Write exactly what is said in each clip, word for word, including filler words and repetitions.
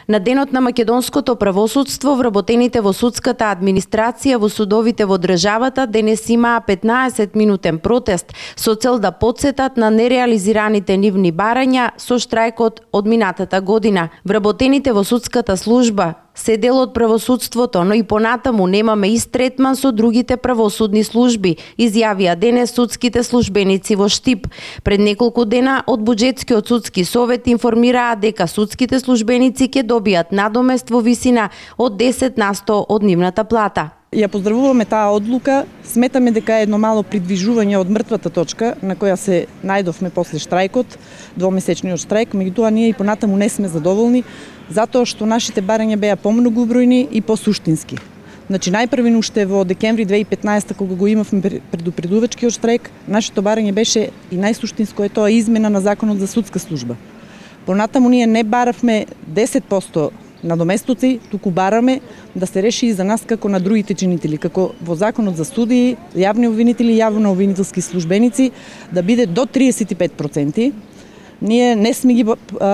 На денот на македонското правосудство, вработените во судската администрација во судовите во државата денес имаа петнаесет минутен протест со цел да потсетат на нереализираните нивни барања со штрајкот од минатата година. Вработените во судската служба се дел од правосудството, но и понатаму немаме ист третман со другите правосудни служби, изјавија денес судските службеници во Штип. Пред неколку дена од Буџетскиот судски совет информираа дека судските службеници ќе добијат надомест во висина од десет на сто од нивната плата. Ја поздравуваме таа одлука, сметаме дека е едно мало придвижување од мртвата точка на која се најдовме после штрајкот, двомесечниот штрајк, меѓутоа ние и понатаму не сме задоволни, затоа што нашите барања беа помногубројни и посуштински. Значи најпрвен уште во декември две илјади и петнаесета кога го имавме предупредувачкиот штрајк, нашето барање беше и најсуштинско е тоа измена на законот за судска служба. Понатаму ние не баравме десет проценти надоместоци, туку бараме да се реши и за нас како на другите чинители, како во законот за судии, јавни обвинители и јавно обвинителски службеници, да биде до триесет и пет проценти. Ние не сме ги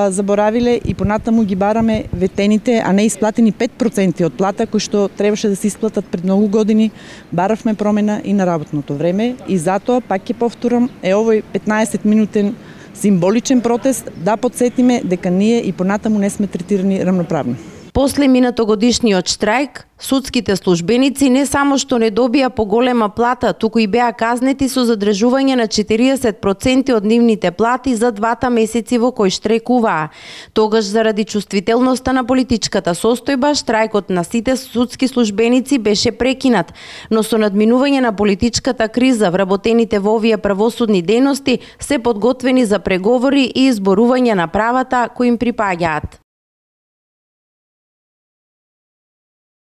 заборавиле и понатаму ги бараме ветените, а не исплатени пет проценти од плата кои што требаше да се исплатат пред многу години. Баравме промена и на работното време и затоа, пак ќе повторам, е овој петнаесет минутен символичен протест да подсетиме дека ние и понатаму не сме третирани рамноправно. После минатогодишниот штрајк, судските службеници не само што не добија поголема плата, туку и беа казнети со задржување на четириесет проценти од нивните плати за двата месеци во кои штрајкуваа. Тогаш заради чувствителноста на политичката состојба, штрајкот на сите судски службеници беше прекинат, но со надминување на политичката криза, вработените во овие правосудни дејности се подготвени за преговори и изборување на правата кои им припаѓаат.